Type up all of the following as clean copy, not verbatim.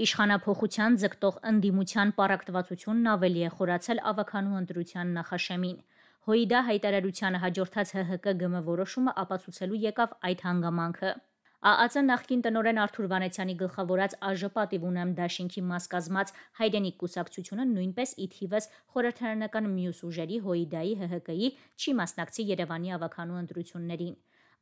Իշխանափոխության ձգտող ընդդիմության պառակտվածությունն ավելի է խորացել ավականու ընտրության նախաշեմին։ ՀՅԴ հայտարարությանը հաջորդած ՀՀԿ-ԳՄ որոշումը ապացուցելու եկավ այդ հանգամանքը։ ԱԱԾ նախկին տնօրեն Արթուր Վանեցյանի գլխավորած ԱԺ պատիվ ունեմ դաշինքի մաս կազմած Հայրենիք կուսակցությունը նույնպես ի թիվս խորհրդարանական մյուս ուժերի ՀՅԴ-ի, ՀՀԿ-ի չի մասնակցի Երևանի ավականու ընտրություններին։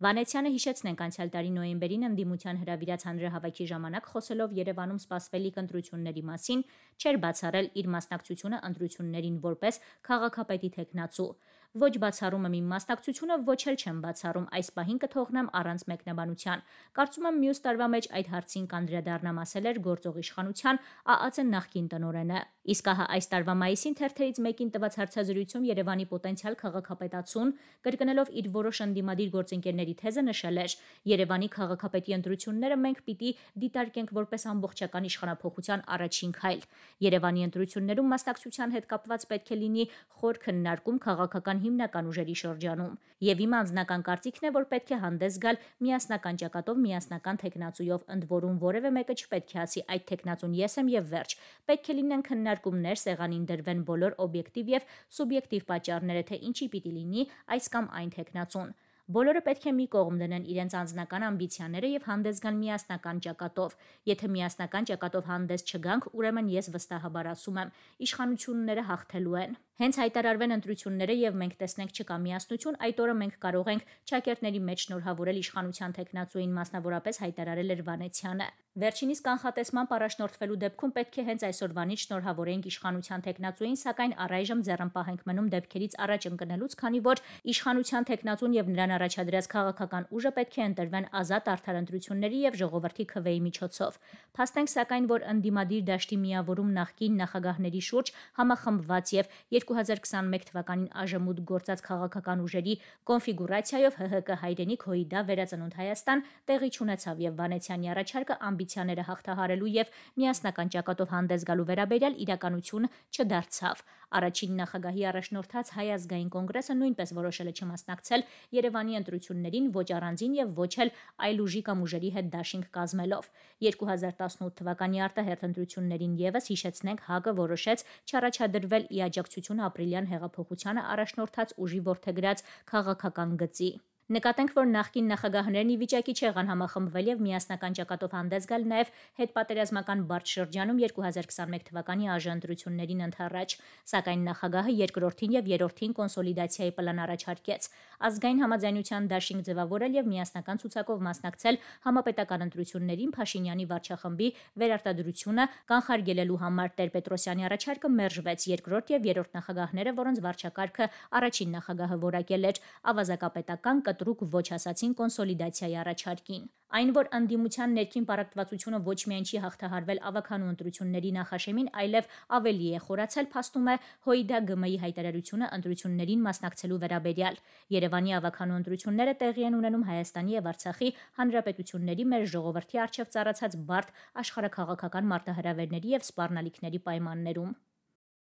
Վանեցյանը հիշեցնենք անցյալ տարի նոյեմբերին ընդդիմության հրավիրած հանրահավաքի ժամանակ խոսելով Երևանում սպասվելիք ընտրությունների մասին, չէր բացառել իր մասնակցությունը ընտրություններին որպես քաղաքապետի թեկնածու։ Ոչ բացառում եմ իմ մասնակցությունը, ոչ էլ չեմ բացառում, այս պահին կթողնեմ առանց մեկնաբանության։ Կարծում եմ մյուս տարվա մեջ այդ հարցին կանդրադառնամ, ասել էր գործող իշխանության ԱԱԾ նախկին տնօրենը։ Իսկ ահա այս տարվա մայիսին թերթերից մեկին տված հարցազրույցում Երևանի պոտենցիալ քաղաքապետացուն, կրկնելով իր որոշ ընդդիմադիր գործընկերների թեզը, նշել էր. Երևանի քաղաքապետի ընտրությունները մենք պիտի դիտարկենք որպես ամբողջական իշխանափոխության առաջին քայլ։ Երևանի ընտրություններում մասնակցության հետ կապված պետք է լինի խոր քննարկում քաղաքական հիմնական ուժերի շրջանում։ Եվ իմ անձնական կարծիքն է, որ պետք է հանդես գալ միասնական ճակատով, միասնական թեկնածուով, ընդ որում որևէ մեկը չպետք է ասի այդ թեկնածուն ես եմ եւ վերջ։ Պետք է լինեն քննարկումներ, սեղանին դրվեն բոլոր օբյեկտիվ եւ սուբյեկտիվ պատճառները, թե ինչի պիտի լինի այս կամ այն թեկնածուն։ Բոլորը պետք է մի կողմ դնեն իրենց անձնական ամբիցիաները եւ հանդես գան միասնական ճակատով։ Եթե միասնական ճակատով հանդես չգանք, ուրեմն ես վստահաբար ասում եմ, իշխանությունները հաղթելու են։ Հենց հայտարարվեն ընտրությունները եւ մենք տեսնենք չկա միասնություն, այդ օրը մենք կարող ենք ճակերտների մեջ շնորհավորել իշխանության թեկնածուին, մասնավորապես հայտարարել էր Վանեցյանը։ Վերջինիս կանխատեսման առաջնորդվելու դեպքում պետք է հենց այսօրվանից շնորհավորենք իշխանության թեկնածուին, սակայն առայժմ ձեռնպահ ենք մնում դեպքերից առաջ ընկնելուց, քանի որ իշխանության թեկնածուն եւ նրան առաջադրած քաղաքական ուժը պետք է ընտրվեն ազատ արդար ընտրությունների եւ ժողովրդի քվեի միջոցով։ Փաստենք սակայն, որ ընդդիմադիր դաշտի միավորում նախկին նախագահների շուրջ համախմբված եւ 2021 թվականին ԱԺՄՈՒՏ գործած քաղաքական ուժերի կոնֆիգուրացիայով ՀՀԿ հայրենիք ՀՅԴ վերածնունդ Հայաստան տեղի չունեցավ եւ Վանեցյանի առաջարկը ամբիցիաները հաղթահարելու եւ միասնական ճակատով հանդես գալու վերաբերյալ իրականություն չդարձավ։ Առաջին նախագահի առաջնորդած Հայ ազգային կոնգրեսը նույնպես որոշել է չմասնակցել Երևանի ընտրություններին ոչ առանձին եւ ոչ էլ այլ ուժի կամ ուժերի հետ դաշինք կազմելով։ 2018 թվականի արտահերթ ընտրություններին եւս հիշեցնենք ՀԱԿ-ը որոշեց չառաջադրվել ի աջակցություն ապրիլյան հեղափոխությանը առաջնորդած ուժի որդեգրած քաղաքական գծի։ Նկատենք, որ նախկին նախագահներն ի վիճակի չեղան համախմբվել եւ միասնական ճակատով հանդես գալ նաեւ հետպատերազմական բարդ շրջանում 2021 թվականի ԱԺ ընտրություններին ընդառաջ, սակայն նախագահը երկրորդին եւ երրորդին կոնսոլիդացիայի պլան առաջարկեց։ Ազգային համաձայնության դաշինք ձևավորել եւ միասնական ցուցակով մասնակցել համապետական ընտրություններին Փաշինյանի վարչախմբի վերարտադրությունը կանխարգելելու համար Տեր-Պետրոսյանի առաջարկը մերժվեց։ Երկրորդ եւ երրորդ նախագահները, որոնց վարչակարգը առաջին նախագահը որակել էր, ավազակապետական կտրուկ ոչ ասացին կոնսոլիդացիայի առաջարկին։ Այն, որ ընդդիմության ներքին պառակտվածությունը ոչ միայն չի հաղթահարվել ավականու ընտրությունների նախաշեմին, այլև ավելի է խորացել, փաստում է ՀՅԴ-ԳՄ-ի հայտարարությունը ընտրություններին մասնակցելու վերաբերյալ։ Երևանի ավականու ընտրությունները տեղի են ունենում Հայաստանի եւ Արցախի հանրապետությունների մեր ժողովրդի առջև ծառացած բարդ աշխարհաքաղաքական մարտահրավերների եւ սպառնալիքների պայմաններում։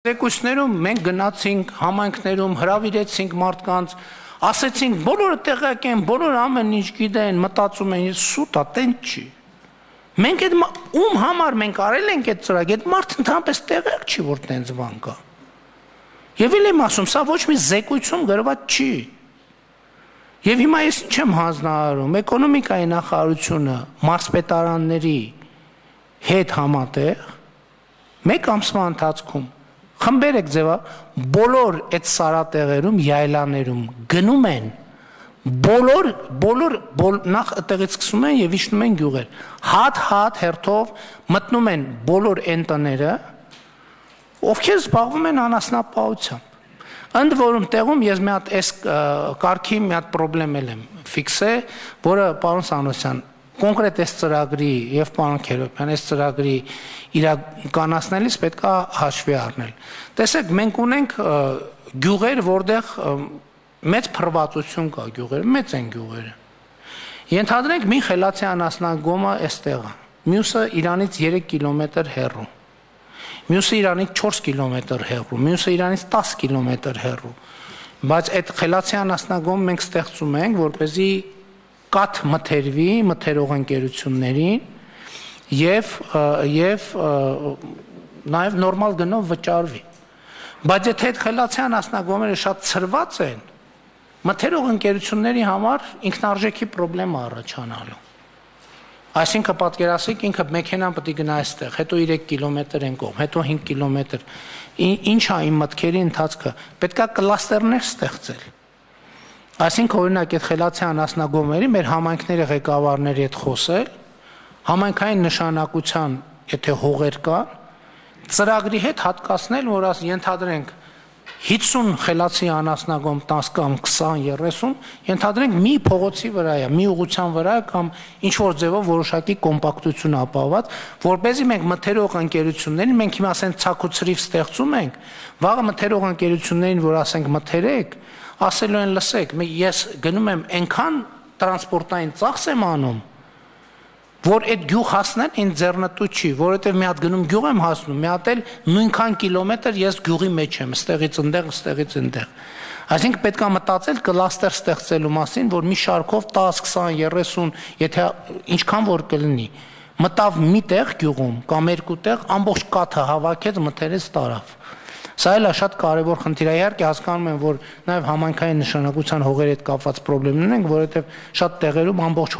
Զեկույցներում մենք գնացինք համայնքներում, հրավիրեցինք մարդկանց, ասեցինք բոլորը տեղյակ են, բոլորը ամեն ինչ գիտեն, մտածում են, սուտ է, տենց չի։ Մենք այդ ում համար մենք արել ենք այդ ծրագիրը, այդ մարդը ընդհանրապես տեղյակ չի, որ տենց բան կա։ Եվ էլ եմ ասում, սա ոչ մի զեկույցում գրված չի։ Եվ հիմա ես ինչ եմ հանձնարարում, էկոնոմիկայի նախարարությունը մարզպետարանների հետ համատեղ մեկ ամսվա ընթացքում խմբեր եք ձևա բոլոր այդ սարատեղերում, յայլաներում գնում են, բոլոր նախ տեղից սկսում են եւ իջնում են գյուղեր, հատ հերթով մտնում են բոլոր այն տները, ովքեր զբաղվում են անասնապահությամբ։ Ընդ որում տեղում ես մի հատ այս կարգի մի հատ խնդրեմ եմ ֆիքսել, որը պարոն Սանոսյան կոնկրետ այս ծրագրի եւ պարոն Քերոբյան այս ծրագրի իրականացնելիս պետք է հաշվի առնել։ Տեսեք, մենք ունենք գյուղեր, որտեղ մեծ փռվածություն կա գյուղեր, մեծ են գյուղերը։ Ենթադրենք մի խելացի անասնագոմը այստեղ է, մյուսը Իրանից 3 կիլոմետր հեռու, մյուսը Իրանից 4 կիլոմետր հեռու, մյուսը Իրանից 10 կիլոմետր հեռու։ Բայց այդ խելացի անասնագոմը մենք ստեղծում ենք, որպեսզի կաթ մթերվի մթերող ընկերություններին եւ նաեւ նորմալ գնով վճարվի։ Բայց եթե այդ խելացի անասնագոմերը շատ ծրված են, մթերող ընկերությունների համար ինքնարժեքի խնդրեմ առաջանալու։ Այսինքն պատկերացրեք ինքը մեքենան պետք է գնա այստեղ, հետո 3 կիլոմետր են կողմ, հետո 5 կիլոմետր։ Ինչ է իմ մտքերի ընթացքը, պետքա կլաստերներ ստեղծել։ Այսինքն օրինակ այդ խելացի անասնագոմերի մեր համայնքների ղեկավարների հետ խոսել, համայնքային նշանակության, եթե հողեր կան, ծրագրի հետ հատկացնել, որ ենթադրենք 50 խելացի անասնագոմ 10 կամ 20-30 ենթադրենք մի փողոցի վրա է, մի ուղղության վրա է կամ ինչ որ ձևով որոշակի կոմպակտություն ապահոված, որպեսզի մենք մթերող ընկերություններին, մենք հիմա ասենք ցակուցրիվ ստեղծում ենք, վաղը մթերող ընկերություններին, որ ասենք մթերեք, ասելու են լսեք, ես գնում եմ այնքան տրանսպորտային ծախս եմ անում, որ այդ գյուղ հասնել ինձ ձեռնտու չի, որովհետև մի հատ գնում գյուղ եմ հասնում, մի հատ էլ նույնքան կիլոմետր ես գյուղի մեջ եմ, ստեղից ընդեղ։ Այսինքն պետք է մտածել կլաստեր ստեղծելու մասին, որ մի շարքով 10, 20, 30, եթե ինչքան որ կլինի, մտավ մի տեղ գյուղում կամ երկու տեղ ամբողջ կաթը հավաքեց, մթերեց տարավ։ Սա էլ է շատ կարևոր խնդիր է, իհարկե հասկանում եմ, որ նաև համայնքային նշանակության հողերի հետ կապված խնդիրներ են, որովհետև շատ տեղերում ամբողջ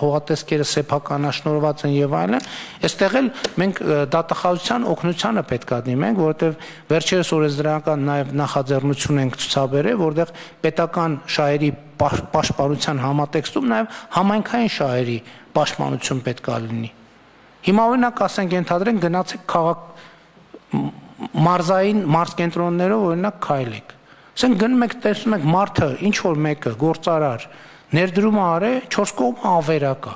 հողատեսկերը սեփականաշնորհված են եւ այլն, այստեղ էլ մենք դատախազության օգնությանը պետք է դիմենք, որովհետև վերջերս օրենսդրական նաև նախաձեռնություն ենք ցուցաբերել, որտեղ պետական շահերի պաշտպանության համատեքստում նաև համայնքային շահերի պաշտպանություն պետք է լինի։ Հիմա օրինակ ասենք ենթադրենք գնացեք քաղաք մարզային մարզկենտրոններով օրինակ քայլեք։ Ասենք գնում եք տեսնում եք մարդը ինչ որ մեկը գործարար ներդրում արե 4 կողմը ավերակա։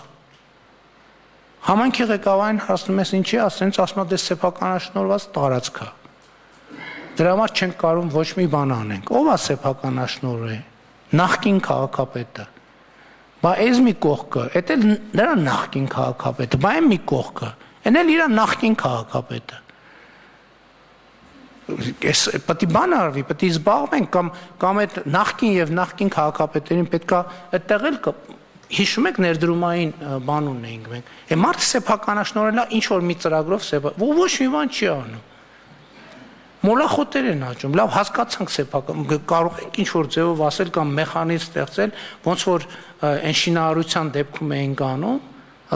Համայնքի ղեկավարին հասնում ես ինչի, ասենց ասում է դե սեփականաշնորհված տարածք է։ Դրա համար չենք կարող ոչ մի բան անենք։ Ո՞վ է սեփականաշնորհը։ Նախկին քաղաքապետը։ Բա այս մի կողքը, դա էլ նրա նախկին քաղաքապետը, բա այն մի կողքը, այն էլ իր նախկին քաղաքապետը։ Ես պետք է բան արվի, պետք է զբաղվենք կամ այդ նախկին եւ նախկին քաղաքապետերին պետքա այդտեղ էլ հիշում եք ներդրումային բան ունեինք մենք։ Է մարդը սեփականաշնորհելա ինչ որ մի ծրագրով ոչ մի բան չի անում։ Մոլախոտեր են աճում, լավ հասկացանք սեփական, կարող ենք ինչ որ ձևով ասել կամ մեխանիզմ ստեղծել, ոնց որ այն շինարարության դեպքում էինք անում,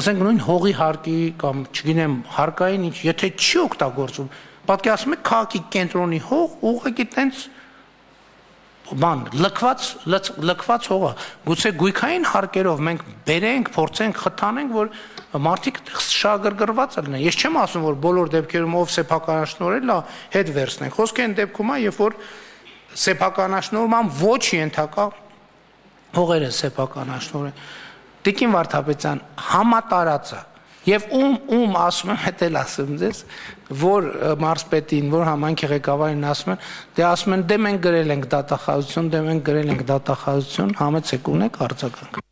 ասենք նույն հողի հարկի կամ չգիտեմ հարկային ինչ, եթե չի օգտագործում պատկերացնում եք քաղաքի կենտրոնի հող ուղղակի տենց բան լքված հողը գուցե գույքային հարկերով մենք բերենք փորձենք խթանենք որ մարդիկ շահագրգռված լինեն ես չեմ ասում որ բոլոր դեպքերում ով սեփականաշնորհել է հետ վերցնենք խոսքը այն դեպքում է երբ որ սեփականաշնորհման ոչ ենթակա հողերը սեփականաշնորհ Տիկին Վարդապետյան համատարածը Եվ ում ասում եմ, հետ էլ ասում ձեզ, որ մարզպետին, որ համայնքի ղեկավարին ասում են, դե ասում են, դե մենք գրել ենք դատախազություն, համեցեք ունեք արձագանք։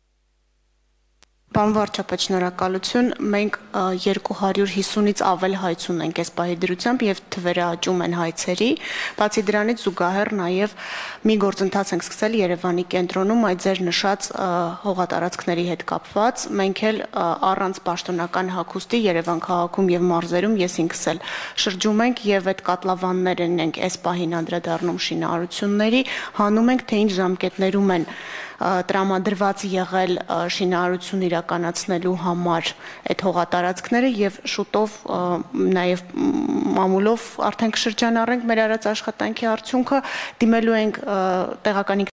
Պարոն վարչապետ, շնորհակալություն, մենք 250-ից ավել հայց ունենք այս պահի դրությամբ եւ թվերը աճում են հայցերի, բացի դրանից զուգահեռ նաեւ մի գործընթաց ենք սկսել Երևանի կենտրոնում այդ ձեր նշած հողատարածքների հետ կապված, մենք էլ առանց պաշտոնական հագուստի Երևան քաղաքում եւ մարզերում ես ինքս էլ շրջում ենք եւ այդ կատլավաններն ենք այս պահին անդրադառնում շինարարությունների, հանում ենք թե ինչ ժամկետներում են տրամադրված եղել շինարարություն իրականացնելու համար այդ հողատարածքները եւ շուտով նաեւ մամուլով արդեն կշրջանառենք մեր արած աշխատանքի արդյունքը դիմելու ենք տեղական